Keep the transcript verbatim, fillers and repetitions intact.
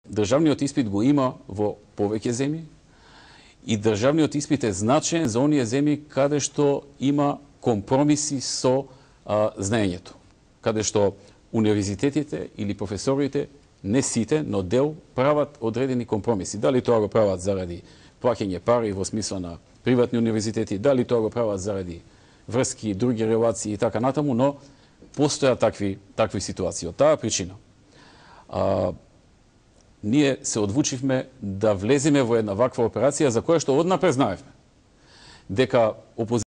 државниот испит го има во повеќе земји и државниот испит е значаен за оние земји каде што има компромиси со а, знаењето, каде што универзитетите или професорите, не сите, но дел, прават одредени компромиси. Дали тоа го прават заради плаќање пари во смисла на приватни универзитети, дали тоа го прават заради врски, други релации и така натаму, но постојат такви, такви ситуации. Од таа причина, а, ние се одлучивме да влеземе во една ваква операција за која што однапред знаевме дека опозицијата